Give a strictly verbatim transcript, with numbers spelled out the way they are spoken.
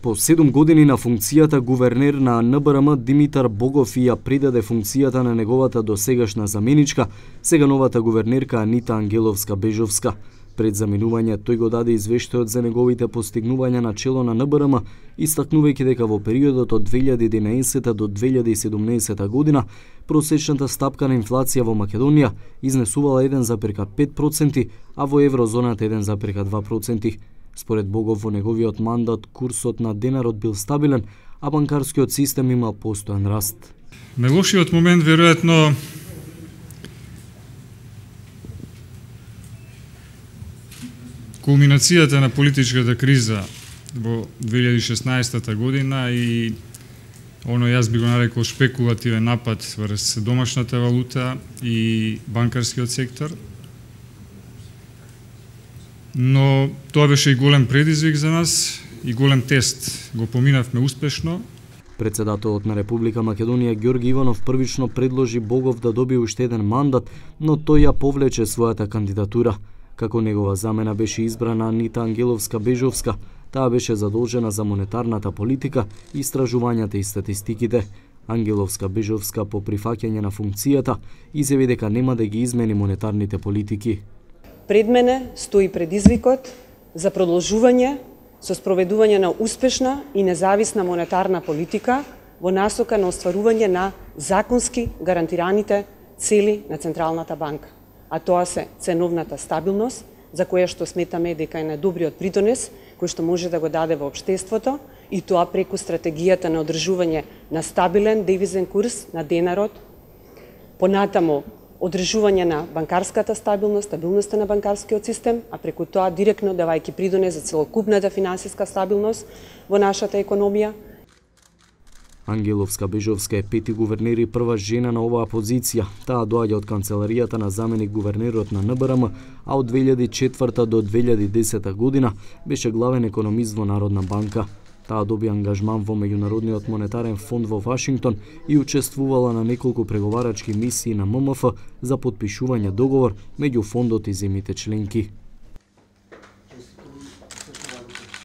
По седум години на функцијата гувернер на Н Б Р М Димитар Богов и ја придаде функцијата на неговата досегашна заменичка, сега новата гувернерка Анита Ангеловска-Бежовска. Пред заминување тој го даде извештајот за неговите постигнувања на чело на Н Б Р М, истакнувајќи дека во периодот од две илјади и единаесета до две илјади и седумнаесета година просечната стапка на инфлација во Македонија изнесувала еден зарез пет проценти, а во еврозоната еден зарез два проценти. Според Богов, во неговиот мандат курсот на денарот бил стабилен, а банкарскиот систем имал постојан раст. Најлошиот момент веројатно кулминацијата на политичката криза во две илјади и шеснаесета година и оно јас би го нарекол шпекулативен напад врз домашната валута и банкарскиот сектор. Но тоа беше и голем предизвик за нас и голем тест. Го поминавме успешно. Председателот на Република Македонија Ѓорги Иванов првично предложи Богов да добие уште еден мандат, но тој ја повлече својата кандидатура. Како негова замена беше избрана Анита Ангеловска-Бежовска. Таа беше задолжена за монетарната политика, истражувањата и статистиките. Ангеловска-Бежовска по прифаќање на функцијата изјави дека нема да ги измени монетарните политики. Пред мене стои предизвикот за продолжување со спроведување на успешна и независна монетарна политика во насока на остварување на законски гарантираните цели на Централната банка. А тоа се ценовната стабилност, за која што сметаме дека е најдобриот придонес кој што може да го даде во општеството, и тоа преку стратегијата на одржување на стабилен девизен курс на денарот, понатаму одржување на банкарската стабилност, стабилноста на банкарскиот систем, а преку тоа директно давајќи придонес за целокупната финансиска стабилност во нашата економија. Ангеловска-Бежовска е пети гувернер и прва жена на оваа позиција. Таа доаѓа од канцеларијата на заменик гувернерот на Н Б Р М, а од две илјади и четврта до две илјади и десета година беше главен економист во Народна банка. Таа доби ангажман во Меѓународниот монетарен фонд во Вашингтон и учествувала на неколку преговарачки мисии на М М Ф за потпишување договор меѓу фондот и земјите членки.